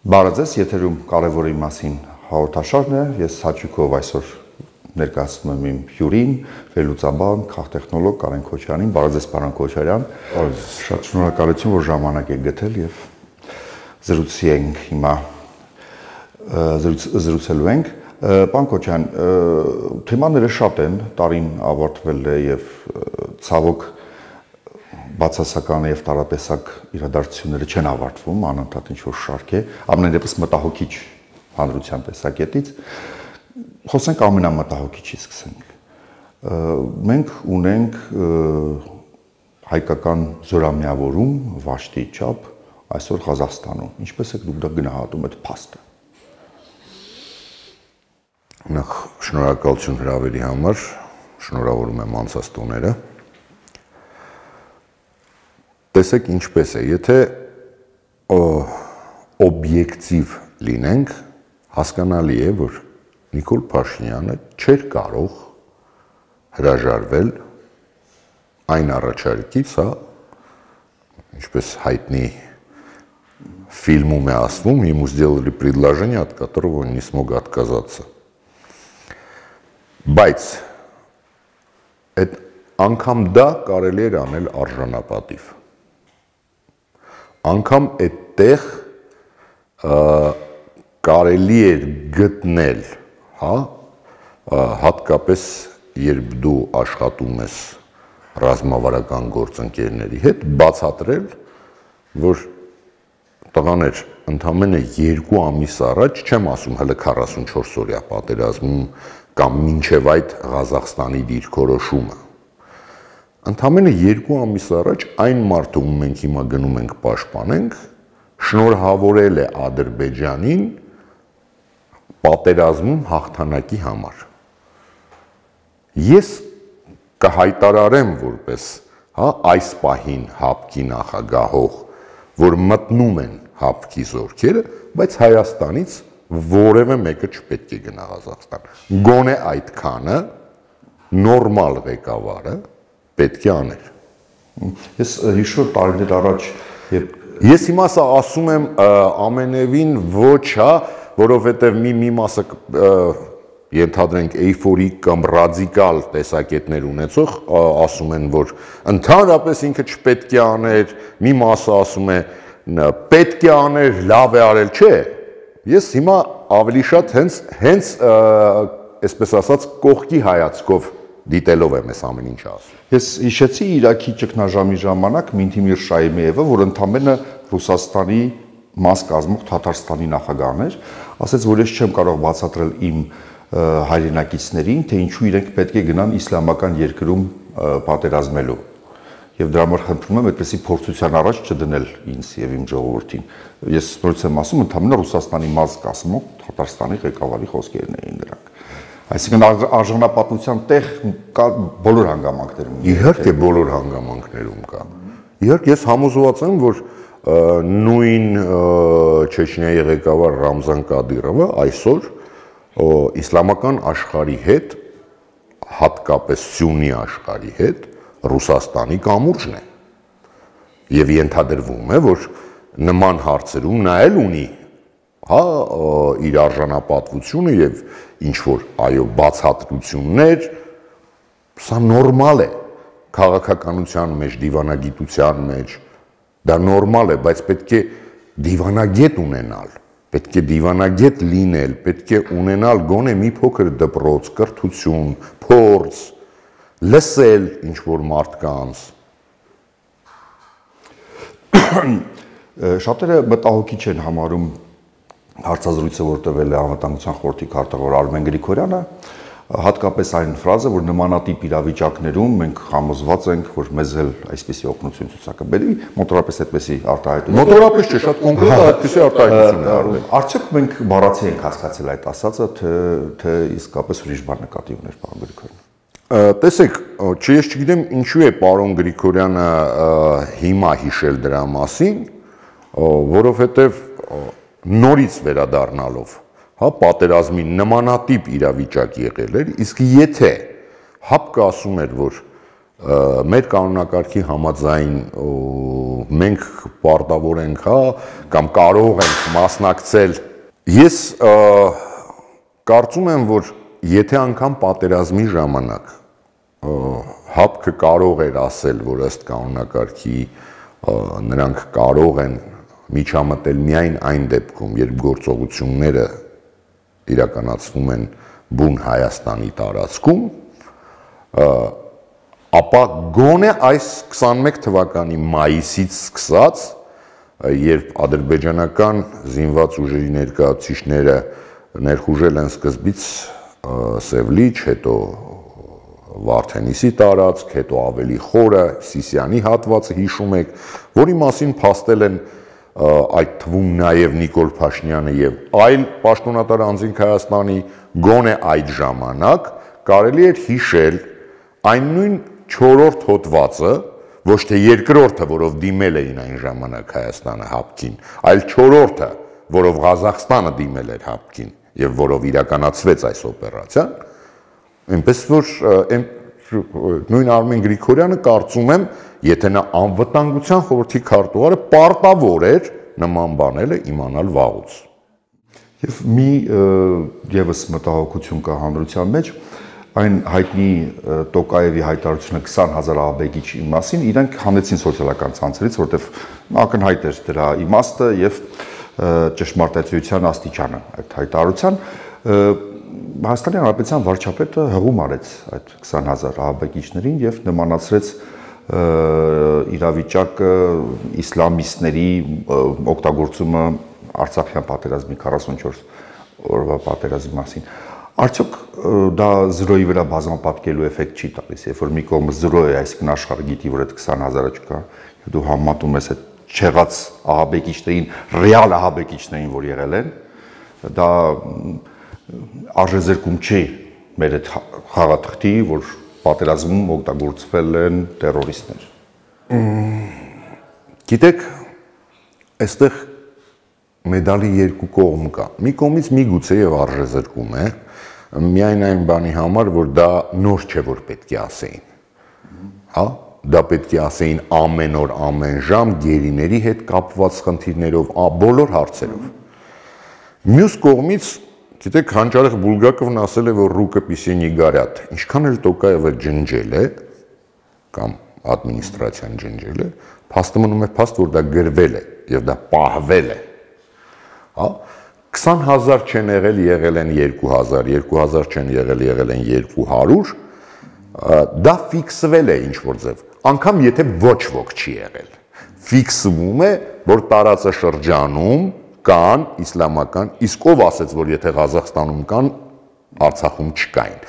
Բարեձեզ, եթերում կարևորի մասին հաղորդաշարն է, ես հաճույքով այսօր ներկայացնում եմ իմ հյուրին, վերլուծաբան, քաղտեխնոլոգ Կարեն Քոչարյանին, բարեձեզ պարոն Քոչարյան, շատ շնորհակալություն, որ ժամանակ եք գտել եւ զրուցելու ենք։ Պարոն Քոչարյան, թեմաները շատ են, տարին ավարտվել է եւ ցավոք բացասական եւ տարատեսակ իրադարձությունները չեն ավարտվում, անընդհատ ինչ-որ շարք է, ամենևս մտահոգիչ հանրության տեսակետից։ Խոսենք ամենամտահոգիչից սկսենք։ Մենք ունենք հայկական զորամիավորում, վաշտի չափ այսօր Ղազախստանում։ Ինչպես եք դուք դա գնահատում այդ փաստը։ Նախ շնորհակալություն հրավերի համար, շնորհավորում եմ անցած տոները։ Տեսեք ինչպես է, եթե օբյեկտիվ լինենք, հասկանալի է, որ Նիկոլ Փաշինյանը չէր կարող հրաժարվել այն առաջարկից, ինչպես հայտնի фильмում է ասվում, ему сделали предложение, от которого он не смог отказаться. Բայց այդ անգամ դա կարելի էր անել արժանապատիվ։ Անգամ այդտեղ կարելի էր գտնել, հատկապես երբ դու աշխատում ես ռազմավարական գործընկերների հետ, բացատրել, որ տղաներ, ընդամենը 2 ամիս առաջ, չեմ ասում հələ 44 օրյա պատերազմում կամ մինչև այդ Ղազախստանի դիրքորոշումը, ընդամենը 2 ամիս առաջ այն մարդը, ում մենք հիմա գնում ենք պաշտպանենք, շնորհավորել է Ադրբեջանին պատերազմում հաղթանակի համար։ Ես կհայտարարեմ որպես այս պահին ՀԱՊԿ-ի նախագահող, որ մտնում են ՀԱՊԿ-ի զորքերը, բայց Հայաստանից որևէ մեկը չպետք է գնա Ղազախստան։ Գոնե այդքանը նորմալ ղեկավարը պետք է աներ։ Ես հիշում եմ տարիներ առաջ, ես հիմա սա ասում եմ ամենևին ոչ, որովհետև մի մասը ենթադրենք էյֆորիկ կամ ռադիկալ տեսակետներ ունեցող ասում են, որ ընդհանրապես ինքը չպետք է աներ, մի մասը ասում է պետք է աներ, լավ է արել, չէ։ Ես հիմա ավելի շատ հենց այսպես ասած կողքի հայացքով դիտելով եմ այս ամեն ինչը ասում։ Ես հիշեցի Իրաքի ճգնաժամի ժամանակ Մինթիմիր Շայմիևը, որ ընդամենը Ռուսաստանի մաս կազմող Թաթարստանի նախագահն էր, ասաց, որ ես չեմ կարող բացատրել իմ հայրենակիցներին, թե ինչու իրենք պետք է գնան իսլամական երկրում պատերազմելու։ Եվ դրա համար խնդրում եմ այդպեսի փորձության առաջ չդնել ինձ եւ իմ ժողովրդին։ Ես նորից եմ ասում, ընդամենը Ռուսաստանի մաս կազմող Թաթարստանի ղեկավարի խոսքերն էին դրանք։ Այսինքն արժանապատվության տեղ կա բոլոր հանգամանքներում։ Իհարկե բոլոր հանգամանքներում կա։ Իհարկե ես համոզված եմ, որ նույն Չեչնիայի ղեկավար Ռամզան Կադիրովը այսօր իսլամական աշխարհի հետ, հատկապես Սյունի աշխարհի հետ Ռուսաստանի կամուրջն է։ Եվ ենթադրվում է, որ նման հարցերում նա էլ ունի իր արժանապատվությունը եւ ինչ որ այո բացատրություններ, սա նորմալ է քաղաքականության մեջ, դիվանագիտության մեջ, դա նորմալ է, բայց պետք է դիվանագետ ունենալ, պետք է դիվանագետ լինել, պետք է ունենալ գոնե մի փոքր դպրոց, կրթություն, փորձ, լսել ինչ որ մարդկանց։ Շատերը մտահոգիչ են համարում հարցազրույցը, որ տվել է Անվտանգության խորհրդի քարտուղար Արմեն Գրիգորյանը, հատկապես այն ֆրազը, որ նմանատիպ իրավիճակներում մենք համոզված ենք, որ մեզ էլ այսպիսի օգնություն ցուցակաբերի, մոտորապես այդպիսի արտահայտություն։ Մոտորապես չէ, շատ կոնկրետ այդպիսի արտահայտություն է արվում։ Արդյոք մենք բառացի ենք հասկացել այդ ասածը, թե իսկապես ուրիշ բան նկատի ուներ պարոն Գրիգորյանը։ Տեսեք, ես չգիտեմ ինչու է պարոն Գրիգորյանը հիմա հիշել դրա մասին, որովհետև նորից վերադառնալով, պատերազմի նմանատիպ իրավիճակ եղել էր, իսկ եթե ՀԱՊԿ-ը ասում էր, որ մեր կանոնակարգի համաձայն մենք պարտավոր ենք, հա, կամ կարող ենք մասնակցել։ Ես կարծում եմ, որ եթե անգամ պատերազմի ժամանակ ՀԱՊԿ-ը կարող էր ասել, որ ըստ կանոնակարգի նրանք կարող են միջամտել միայն այն դեպքում, երբ գործողությունները իրականացվում են բուն Հայաստանի տարածքում, ապա գոնե այս 21 թվականի մայիսից սկսած, երբ ադրբեջանական զինված ուժերի ներկայացուցիչները ներխուժել են սկզբից Սևլիչ, հետո Վարդենիսի տարածք, հետո ավելի խորը Սիսիանի հատվածը հիշում եք, որի մասին փաստել են այդ թվում նաև Նիկոլ Փաշինյանը եւ այլ պաշտոնատար անձինք Հայաստանի, գոնե այդ ժամանակ կարելի էր հիշել այն նույն 4-րդ հոդվածը, ոչ թե երկրորդը, որով դիմել էին այն ժամանակ Հայաստանը ՀԱՊԿ-ին, այլ 4-րդը, որով Ղազախստանը դիմել էր ՀԱՊԿ-ին եւ որով իրականացվեց այս օպերացիան, այնպես որ նույն Արմեն Գրիգորյանը կարծում եմ, եթե նա անվտանգության խորհրդի քարտուղարը պարտավոր էր նման բաները իմանալ վաղուց։ Եվ մի եւս մտահոգություն կա հանրության մեջ, այն հայտնի Տոկաևի հայտարարությունը 20,000 ահաբեկիչի մասին, իրենք հանեցին սոցիալական ցանցերից, որտեղ ակնհայտ էր դրա իմաստը եւ ճշմարտացիության աստիճանը այդ հայտարարության։ Հայաստանի Հանրապետության վարչապետը հղում արեց այդ 20,000 ահաբեկիչներին եւ նմանացրեց իրավիճակը իսլամիստների օգտագործումը Արցախյան պատերազմի 44 օրվա պատերազմի մասին։ Արդյոք դա 0-ի վրա բազմապատկելու էֆեկտ չի տալիս, երբ որ մի կողմը 0 է, այսինքն աշխարհը գիտի, որ այդ 20,000-ը չկա, եւ դու համատում ես այդ չեղած ահաբեկիչներին, ռեալ ահաբեկիչներին, որ եղել են, դա արժեզրկում չի մեր այդ խաղաթղթի, որ պատերազմում օգտագործվել են տերորիստներ։ Գիտեք, այստեղ մեդալի երկու կողմ կա։ Մի կողմից միգուցե եւ արժեզրկում է, միայն այն բանի համար, որ դա նոր չէ, որ պետք է ասեին։ Հա, դա պետք է ասեին ամեն օր, ամեն ժամ գերիների հետ կապված խնդիրներով, բոլոր հարցերով։ Մյուս կողմից, գիտեք, Հանճարեղ Բուլգակովն ասել է, որ ռուկը պիսի не горят։ Ինչքան էլ Տոկաևը ջնջել է, կամ ադմինիստրացիան ջնջել է, փաստը մնում է փաստ, որ դա գրվել է եւ դա պահվել է։ Հա, 20,000 չեն եղել են 2,000, 2,000 չեն եղել են 200, դա ֆիքսվել է ինչ-որ ձև, անգամ եթե ոչ ոք չի եղել։ Ֆիքսվում է, որ տարածաշրջանում կան իսլամական, իսկ ով ասեց, որ եթե Ղազախստանում կան, Արցախում չկային։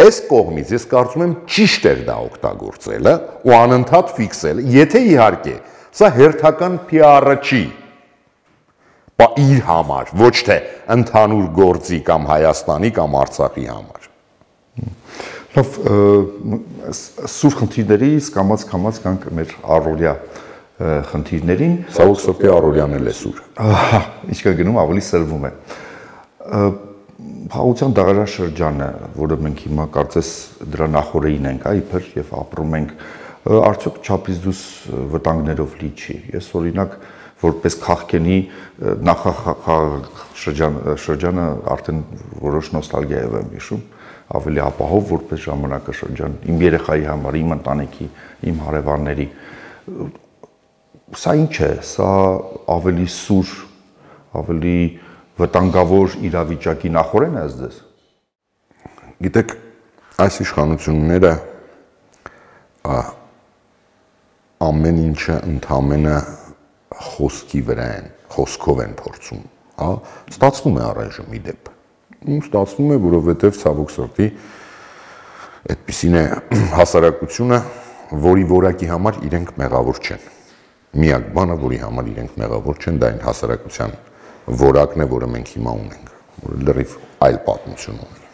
Այս կողմից ես կարծում եմ ճիշտ էր դա օգտագործելը ու անընդհատ ֆիքսելը, եթե իհարկե սա հերթական PR-ը չի, իր համար, ոչ թե ընդհանուր գործի կամ Հայաստանի կամ Արցախի համար։ Լավ, սուր խնդիրներից կամաց գանք մեր առօրյա խնդիրներին։ Սավոք սրտի առօրյան էլ է սուր։ Ինչքան գնում ավելի սրվում է։ Խաղաղության դարաշրջանը, որը մենք հիմա կարծես դրա նախօրեին ենք, իբր եւ ապրում ենք, արդյոք չափից դուրս վտանգներով լի չի։ Ես օրինակ որպես քաղաքենի նախաշրջանը արդեն որոշ նոստալգիա եմ հիշում, ավելի ապահով որպես ժամանակաշրջան իմ երեխայի համար, իմ ընտանիքի, իմ հարևանների։ Սա ինչ է, սա ավելի սուր, ավելի վտանգավոր իրավիճակի նախորեն է ձեզ։ Գիտեք, այս իշխանությունները ամեն ինչը ընդամենը խոսքի վրա են, խոսքով են փորձում, հա, ստացվում է առայժմ ի դեպ։ Ստացվում է, որովհետև ցավոք սրտի այդպիսին է հասարակությունը, որի որակի համար իրենք մեղավոր չեն։ Միակ բանը, որի համար իրենք մեղավոր չեն, դա այն հասարակության որակն է, որը մենք հիմա ունենք, որը լրիվ այլ պատմություն ունի։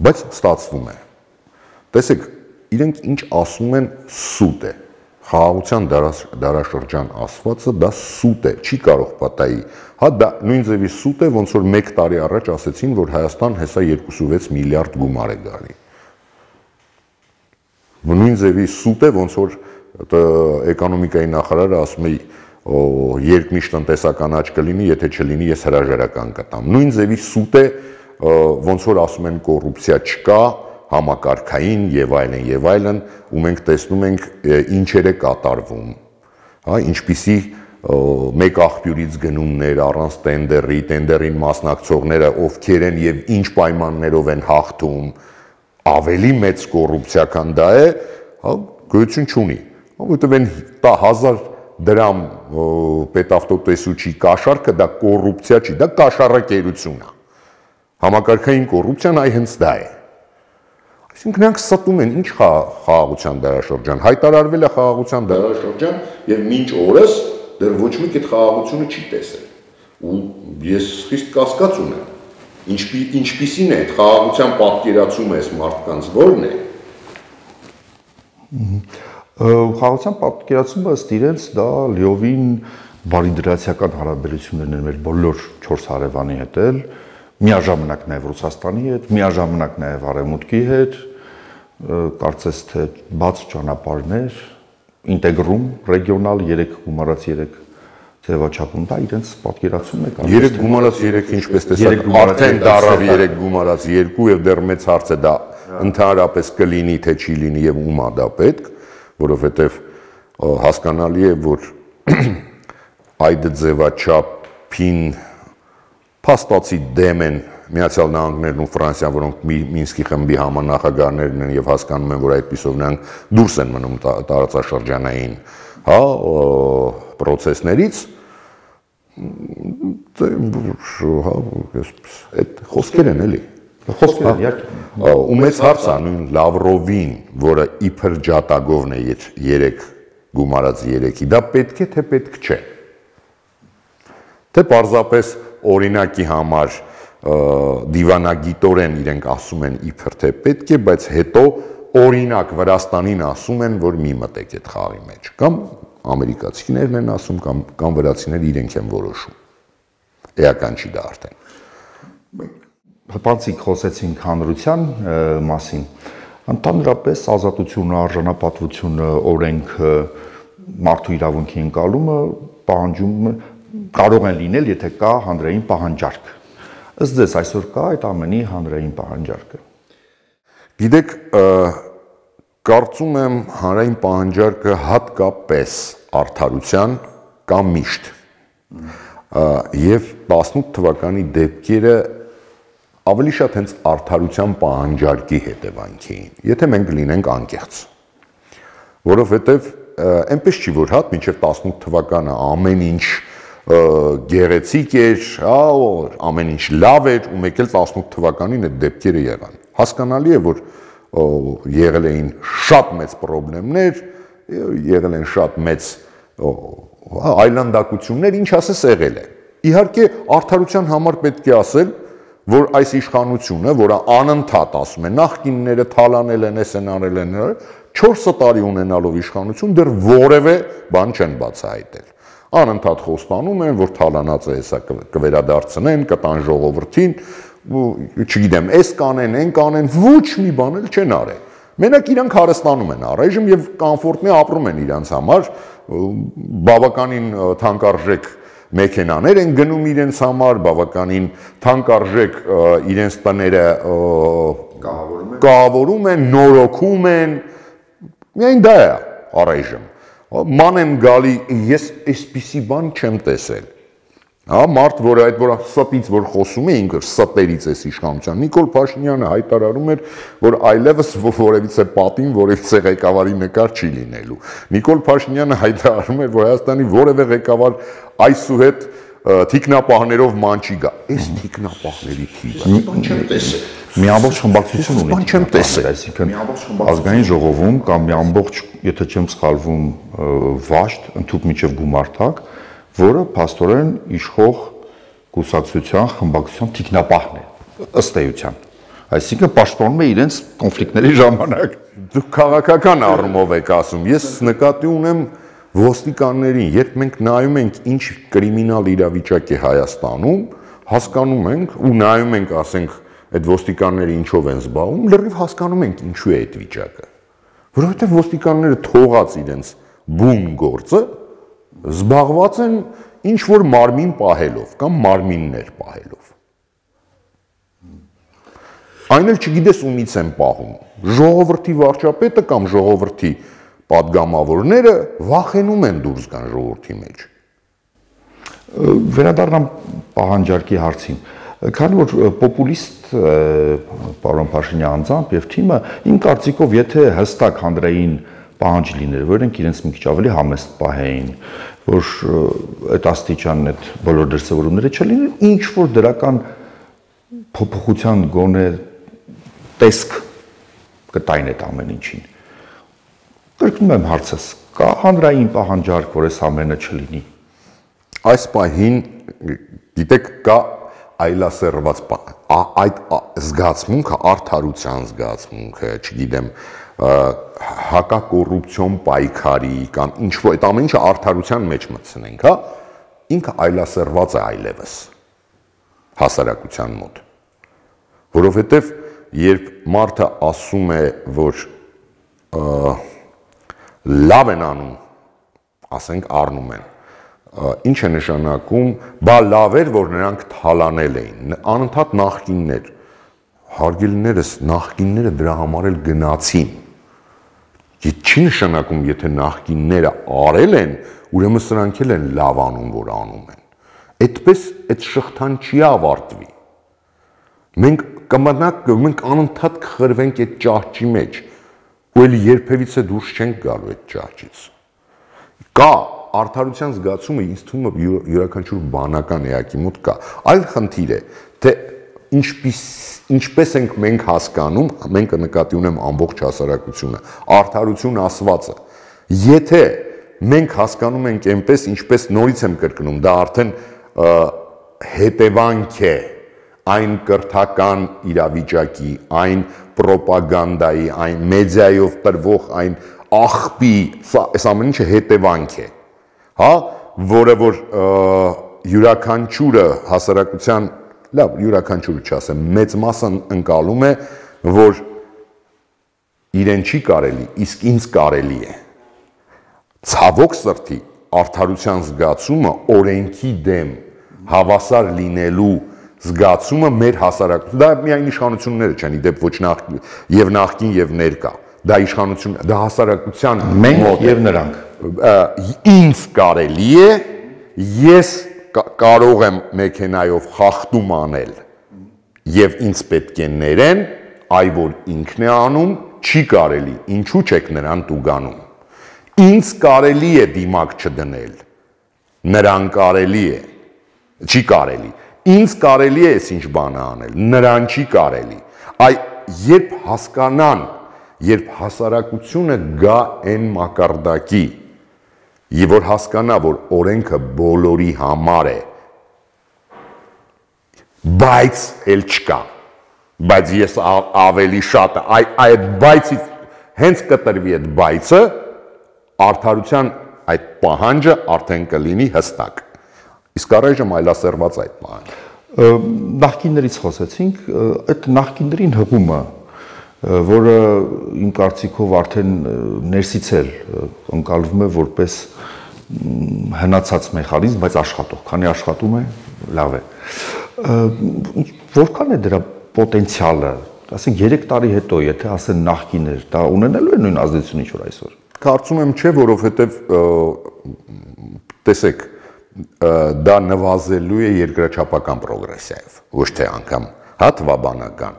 Բայց ստացվում է։ Տեսեք, իրենք ինչ ասում են, սուտ է։ Խաղաղության դարաշրջան ասվածը դա սուտ է, չի կարող պատահի։ Հա դա նույն ձևի սուտ է, ոնց որ 1 տարի առաջ ասեցին, որ Հայաստան հեսա 2.6 միլիարդ գումար է գալի։ Նույն ձևի սուտ է, ոնց որ էկոնոմիկայի նախարարը ասում է երկնիշ տնտեսական աճ կլինի, եթե չլինի, ես հրաժարական կտամ։ Նույն ձևի սուտ է, ոնց որ ասում են կոռուպցիա չկա, համակարգային եւ այլն, ու մենք տեսնում ենք ինչեր է կատարվում, հա, ինչպիսի մեկ աղբյուրից գնումներ առանց տենդերին մասնակցողները ովքեր են եւ ինչ պայմաններով են հաղթում, ավելի մեծ կոռուպցիա, քան դա է, հա, գոյություն չունի, որովհետեւ այն 10,000 դրամ պետավտոտեսուչի կաշառքը դա կոռուպցիա չի, դա կաշառակերություն է։ Համակարգային կոռուպցիան այ հենց դա է։ Այսինքն նրանք ստում են ինչ խաղաղության դարաշրջան, հայտարարվել է խաղաղության դարաշրջան եւ մինչ օրս դեռ ոչ մեկ այդ խաղաղությունը չի տեսել։ Ու ես խիստ կասկած ունեմ, ինչպիսին է այդ խաղաղության պատկերացումը այս մարդկանց որն է։ Խաղաղության պատկերացումը ըստ իրենց դա լիովին բարիդրացիական հարաբերություններն են մեր բոլոր 4 հարևանի հետ էլ, միաժամանակ նաև Ռուսաստանի հետ, միաժամանակ նաև Արևմուտքի հետ, կարծես թե բաց ճանապարհներ, ինտեգրում ռեգիոնալ 3 գումարած 3 ձևաչափում դա իրենց պատկերացումն է կարող։ 3 գումարած 3 ինչպես տեսակ արդեն դարավ 3 գումարած 2 եւ դեռ մեծ հարց է դա ընդհանրապես կլինի թե չի լինի եւ ումա դա պետք, որովհետեւ հասկանալի է որ այդ ձևաչափին փաստացի դեմ են Միացյալ Նահանգներն ու Ֆրանսիան, որոնք Մինսկի խմբի համանախագահներն են եւ հասկանում են, որ այդպիսով նրանք դուրս են մնում տարածաշրջանային, հա, պրոցեսներից, այդ խոսքեր են էլի։ Խոսքեր են, իհարկե։ Ու մեծ հարց է նույն Լավրովին, որը իբր ջատագովն է 3 գումարած 3-ի, դա պետք է թե պետք չէ։ Թե պարզապես օրինակի համար դիվանագիտորեն իրենք ասում են իբր թե պետք է, բայց հետո օրինակ Վրաստանին ասում են, որ մի մտեք այդ խաղի մեջ, կամ ամերիկացիներն են ասում, կամ վրացիները իրենք են որոշում։ Էական չի դա արդեն։ Հպանցիկ խոսեցինք հանրության մասին, ընդհանրապես ազատությունը, արժանապատվությունը, օրենքը, մարդու իրավունքի ընկալումը պահանջում կարող են լինել, եթե կա հանրային պահանջարկ։ Ըստ ձեզ այսօր կա այդ ամենի հանրային պահանջարկը։ Գիտեք, կարծում եմ հանրային պահանջարկը հատկապես արդարության կամ միշտ։ Եվ 18 թվականի դեպքերը ավելի շատ հենց արդարության պահանջարկի հետևանք էին, եթե մենք լինենք անկեղծ։ Որովհետև այնպես չի, որ հատ մինչև 18 թվականը ամեն ինչ գեղեցիկ էր, ամեն ինչ լավ էր, ու մեկ էլ 18 թվականին այդ դեպքերը եղան։ Հասկանալի է, որ եղել էին շատ մեծ խնդիրներ, եղել են շատ մեծ այլանդակություններ, ինչ ասես եղել է։ Իհարկե, արդարության համար պետք է ասել, որ այս իշխանությունը, որը անընդհատ ասում է, նախկինները թալանել են, էս են արել են, 4 տարի ունենալով իշխանություն դեռ որևէ բան չեն բացահայտել։ Անընդհատ խոստանում են, որ թալանածը հեսա կվերադարձնեն, կտան ժողովրդին, չգիտեմ, էս կանեն, են կանեն, ոչ մի բան էլ չեն արել։ Մենակ իրանք հարստանում են առայժմ եւ կոմֆորտնի ապրում են իրանց համար, բավականին թանկարժեք մեքենաներ են գնում իրենց համար, բավականին թանկարժեք իրենց տները կահավորում են, նորոգում են, միայն դա է առայժմ։ Ման եմ գալի, ես այսպիսի բան չեմ տեսել։ Մարդ, որ այդ որ ստից որ խոսում է, ինքը ստերից էս իշխանության, Նիկոլ Փաշինյանը հայտարարում էր, որ այլևս որևիցե պատին, որևիցե ղեկավարի նկար չի լինելու։ Նիկոլ Փաշինյանը հայտարարում էր, որ Հայաստանի որևէ ղեկավար այսուհետ թիկնապահներով ման չի գա։ Այս թիկնապահների թիվը բան չեմ տեսել։ Մի ամբողջ խմբակցություն ունի։ Բան չեմ տեսել, այսինքն ազգային ժողովում կամ մի ամբողջ, եթե չեմ սխալվում, վաշտ, ընդհանուր միջև գումարտակ, որը փաստորեն իշխող կուսակցության խմբակցության թիկնապահն է, ըստ էության։ Այսինքն պաշտպանում է իրենց կոնֆլիկտների ժամանակ։ Դուք քաղաքական առումով եք ասում, ես նկատի ունեմ ոստիկաններին, երբ մենք նայում ենք ինչ կրիմինալ իրավիճակ է Հայաստանում, հասկանում ենք ու նայում ենք, ասենք, այդ ոստիկանները ինչով են զբաղվում, լրիվ հասկանում ենք ինչու է այդ վիճակը։ որովհետև ոստիկանները թողած իրենց բուն գործը զբաղված են ինչ որ մարմին պահելով կամ մարմիններ պահելով։ Այն էլ չգիտես ումից են պահում։ Ժողովրդի վարչապետը կամ ժողովրդի պատգամավորները վախենում են դուրս գան ժողովրդի մեջ։ Վերադառնամ պահանջարկի հարցին։ Քանի որ պոպուլիստ պարոն Փաշինյանի անձամբ եւ թիմը իմ կարծիքով եթե հստակ հանրային պահանջ լիներ, որ իրենք իրենց մի քիչ ավելի համեստ պահեին, որ այդ աստիճանն այդ բոլոր դրսևորումները չլինեն, ինչ որ դրական փոփոխության գոնե տեսք կտային այդ ամեն ինչին։ Կրկնում եմ հարցս, կա հանրային պահանջարկ, որ այս ամենը չլինի։ Այս պահին գիտեք կա այլասերված այդ զգացմունքը, արդարության զգացմունքը, չգիտեմ, հակակոռուպցիոն պայքարի կամ ինչ որ այդ ամեն ինչը արդարության մեջ մտցնենք, հա, ինքը այլասերված է այլևս հասարակության մոտ, որովհետև երբ մարդը ասում է, որ լավ են անում, ասենք առնում են, ինչ է նշանակում, բա լավ էր, որ նրանք թալանել էին, անընդհատ նախկիններ, հարգելիներս, նախկինները դրա համար էլ գնացին, չի նշանակում, եթե նախկինները արել են, ուրեմն սրանք էլ են լավ անում, որ անում են, այդպես այդ շղթան չի ավարտվի, մենք անընդհատ կխրվենք այդ ճահճի մեջ, ու էլ երբևիցե դուրս չենք գալու այդ ճահճից, կա արդարության զգացումը ինձ թվում է յուրաքանչյուր բանական էակի մոտ կա։ Այլ խնդիր է, թե ինչպես ենք մենք հասկանում, մենք նկատի ունեմ ամբողջ հասարակությունը, արդարություն ասվածը։ Եթե մենք հասկանում ենք այնպես, ինչպես նորից եմ կրկնում, դա արդեն հետևանք է այն կրթական իրավիճակի, այն պրոպագանդայի, այն մեդիայով տրվող այն աղբի, այս ամեն ինչը հետևանք է։ Հա, որը որ յուրաքանչյուրը հասարակության, լավ, յուրաքանչյուրը չասեմ, մեծ մասը ընկալում է, որ իրեն չի կարելի, իսկ ինձ կարելի է։ Ցավոք սրտի արդարության զգացումը, օրենքի դեմ հավասար լինելու զգացումը մեր հասարակություն, դա միայն իշխանությունները չեն, իդեպ ոչ եւ նախկին եւ ներկա, դա իշխանություն, դա հասարակության մենք եւ նրանք ինձ կարելի է, ես կարող եմ մեքենայով խախտում անել եւ ինձ պետք է ներեն, այ որ ինքն է անում, չի կարելի, ինչու չեք նրան տուգանում։ Ինձ կարելի է դիմակ չդնել, նրան կարելի է, չի կարելի։ Ինձ կարելի է այս ինչ բանը անել, նրան չի կարելի։ Այ երբ հասկանան, երբ հասարակությունը գա այն մակարդակի, եւ որ հասկանա, որ օրենքը բոլորի համար է, բայց էլ չկա, բայց ես ավելի շատ այդ բայցից հենց կտրվի այդ բայցը, արդարության այդ պահանջը արդեն կլինի հստակ։ Իսկ առայժմ այլասերված այդ պահանջը։ Նախկիններից խոսեցինք, այդ նախկիններին հղումը, որը իմ կարծիքով արդեն ներսից էլ ընկալվում է որպես հնացած մեխանիզմ, բայց աշխատող, քանի աշխատում է, լավ է։ Որքան է դրա պոտենցիալը, ասենք 3 տարի հետո, եթե ասեն նախկիներ, դա ունենալու է նույն ազդեցությունը, ինչ որ այսօր։ Կարծում եմ չէ, որովհետև տեսեք, դա նվազելու է երկրաչափական պրոգրեսիայով, ոչ թե անգամ հա թվաբանական։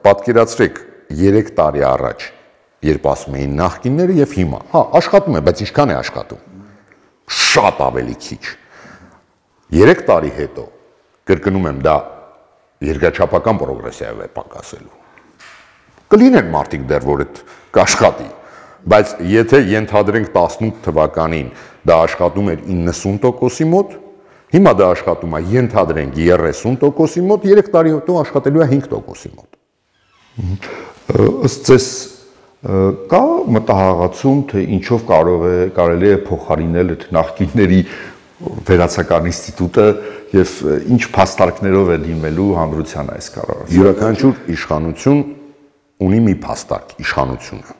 Պատկերացրեք 3 տարի առաջ, երբ ասում էին նախկինները եւ հիմա, հա, աշխատում է, բայց ինչքան է աշխատում։ Շատ ավելի քիչ։ 3 տարի հետո, կրկնում եմ, դա երկրաչափական պրոգրեսիայով է պակասելու։ Կլինեն մարդիկ դեռ, որ այդ կաշխատի, բայց եթե ենթադրենք 18 թվականին դա աշխատում էր 90%-ի մոտ, հիմա դա աշխատում է ենթադրենք 30%-ի մոտ, 3 տարի հետո աշխատելու է 5%-ի մոտ։ Ըստ ձեզ կա մտահղացում, թե ինչով կարելի է փոխարինել այդ նախկինների վերացական ինստիտուտը եւ ինչ փաստարկներով է դիմելու հանրության այս կառավարությունը։ Յուրաքանչյուր իշխանություն ունի մի փաստարկ, իշխանությունը։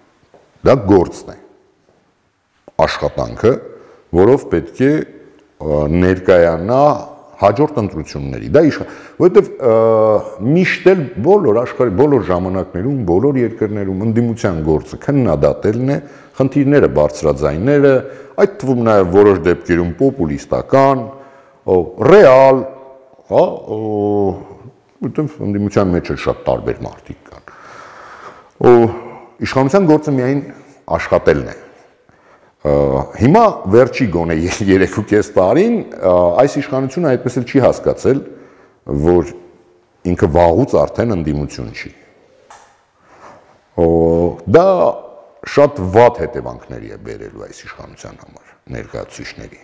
Դա գործն է, աշխատանքը, որով պետք է ներկայանա հաջորդ ընտրությունների։ Դա որովհետև միշտ էլ բոլոր աշխարհի բոլոր ժամանակներում, բոլոր երկրներում ընդդիմության գործը քննադատելն է, խնդիրները բարձրաձայնելը, այդ թվում նաև որոշ դեպքերում պոպուլիստական, ռեալ, հա, որովհետև ընդդիմության մեջ էլ շատ տարբեր մարդիկ կան։ Իշխանության գործը միայն աշխատելն է։ Հիմա վերջի գոնե 3.5 տարին այս իշխանությունը այդպես էլ չի հասկացել, որ ինքը վաղուց արդեն ընդդիմություն չի։ Դա շատ վատ հետևանքների է բերելու այս իշխանության համար, ներկայացուցիչների։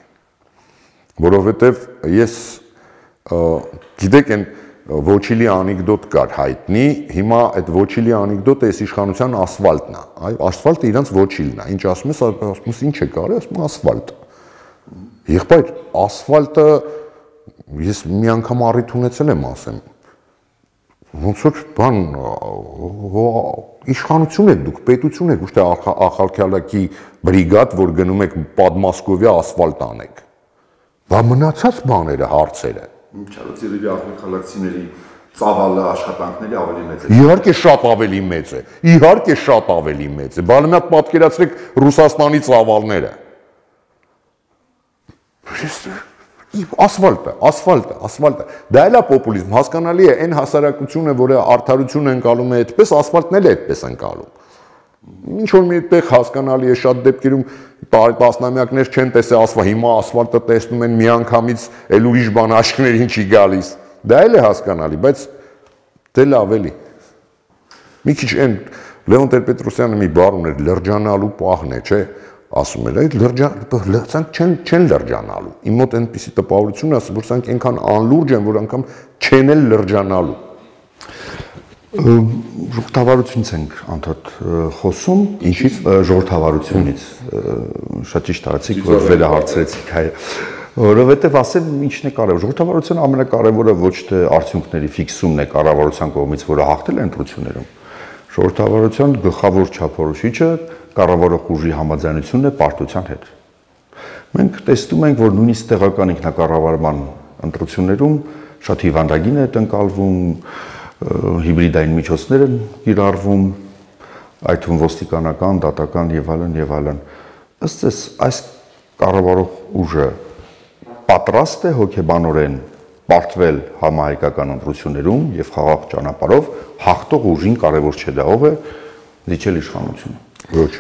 Որովհետև ես գիտեք այն Ոչիլի անեկդոտ կար հայտնի, հիմա այդ Ոչիլի անեկդոտը այս իշխանության ասֆալտն է, ասֆալտը իրանց Ոչիլն է, ինչ ասում ես ինչ է կարի, ասում ասֆալտ։ Եղբայր, ասֆալտը ես մի անգամ առիթ ունեցել եմ ասեմ, ոնց որ բան իշխանություն եք դուք, պետություն եք, ոչ թե ախալքյալակի բրիգադ, որ գնում եք Պատմասկովիա ասֆալտ անեք։ Բա մնացած բաները, հարցերը Չարոցիրի ախալքալակցիների ծավալը աշխատանքների ավելի մեծ է։ Իհարկե շատ ավելի մեծ է։ Իհարկե շատ ավելի մեծ է։ Բալմյատ պատկերացրեք Ռուսաստանի ծավալները։ Ասֆալտը։ Դա էլ է պոպուլիզմ, հասկանալի է, այն հասարակությունը, որը արդարություն ընկալում է այդպես, ասֆալտն էլ է այդպես ընկալում։ Ինչ որ մի այդտեղ հասկանալի է, շատ դեպքերում տասնամյակներ չեն տեսել ասֆալտ, հիմա ասֆալտը տեսնում են միանգամից, էլ ուրիշ բան աչքներին չի գալիս։ Դա էլ է հասկանալի, բայց դե լավ էլի։ Մի քիչ այն Լևոն Տեր-Պետրոսյանը մի բառ ուներ, լրջանալու պահն է, չէ՞, ասում էր, այդ լրջանալու չեն լրջանալու։ Իմ մոտ այնպիսի տպավորություն է, որ սրանք այնքան անլուրջ են, որ անգամ չեն էլ լրջանալու։ Ժողովրդավարությունից ենք անդոդ խոսում, ինչից ժողովրդավարությունից, շատ ճիշտ արեցիք, որ վերահարցրեցիք հայ, որովհետև ասեմ ինչն է կարևոր, ժողովրդավարության ամենակարևորը ոչ թե արդյունքների ֆիքսումն է կառավարության կողմից, որը հաղթել է ընտրություններում, ժողովրդավարության գլխավոր չափորոշիչը կառավարող ուժի համաձայնությունն է պարտության հետ։ Մենք տեսնում ենք, որ նույնիսկ տեղական ինքնակառավարման ընտրություններում շատ հիվանդագին է ընկալվում, հիբրիդային միջոցներ են կիրառվում, այդ թվում ոստիկանական, դատական եւ այլն։ Ըստ էս այս կառավարող ուժը պատրաստ է հոգեբանորեն պարտվել համահայկական ընտրություններում եւ խաղաղ ճանապարհով հաղթող ուժին կարևոր չէ դա ով է դիչել իշխանությունը։ Ոչ։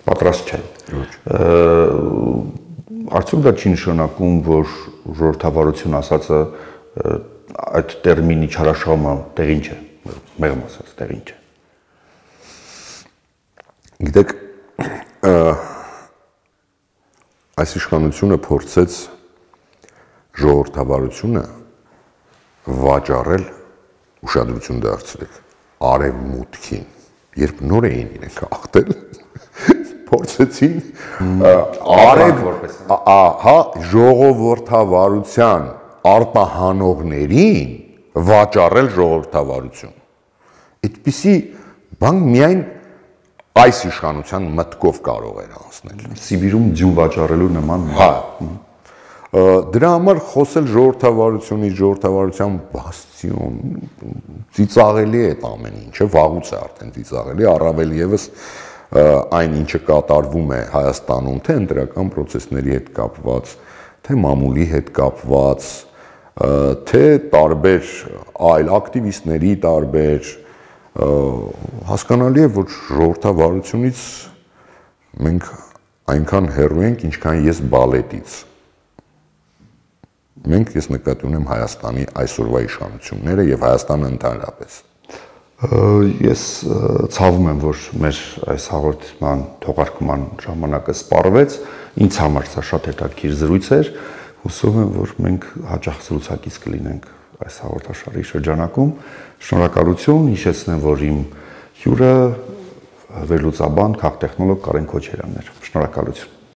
Պատրաստ չէ։ Ոչ։ Արդյոք դա չի նշանակում, որ ժողովրդավարություն ասածը այդ տերմինի չարաշահումը տեղին չէ, մեղմ ասած տեղին չէ։ Գիտեք, այս իշխանությունը փորձեց ժողովրդավարությունը վաճառել, ուշադրություն դարձրեք, արևմուտքին, երբ նոր էին իրենք հաղթել, փորձեցին ժողովրդավարության արտահանողներին վաճառել ժողովրդավարություն։ Այդպիսի բան միայն այս իշխանության մտքով կարող էր անցնել։ Սիբիրում ձյուն վաճառելու նման։ Հա։ Դրա համար խոսել ժողովրդավարությունից, ժողովրդավարության բաստիոն, ծիծաղելի է այդ ամեն ինչը, վաղուց է արդեն ծիծաղելի, առավել եւս այն ինչը կատարվում է Հայաստանում, թե ընտրական process-ների հետ կապված, թե մամուլի հետ կապված, թե տարբեր այլ ակտիվիստների տարբեր հասկանալի է, որ ժողովրդավարությունից մենք այնքան հեռու ենք, ինչքան ես բալետից։ Մենք ես նկատի ունեմ Հայաստանի այսօրվա իշխանությունները եւ Հայաստանը ընդհանրապես։ Ես ցավում եմ, որ մեր այս հաղորդման թողարկման ժամանակը սպառվեց, ինձ համար սա շատ հետաքրքիր զրույց էր, հուսով եմ, որ մենք հաճախ զրուցակից կլինենք այս հաղորդաշարի շրջանակում։ Շնորհակալություն, հիշեցնեմ, որ իմ հյուրը վերլուծաբան, քաղտեխնոլոգ Կարեն Քոչարյանն էր։ Շնորհակալություն։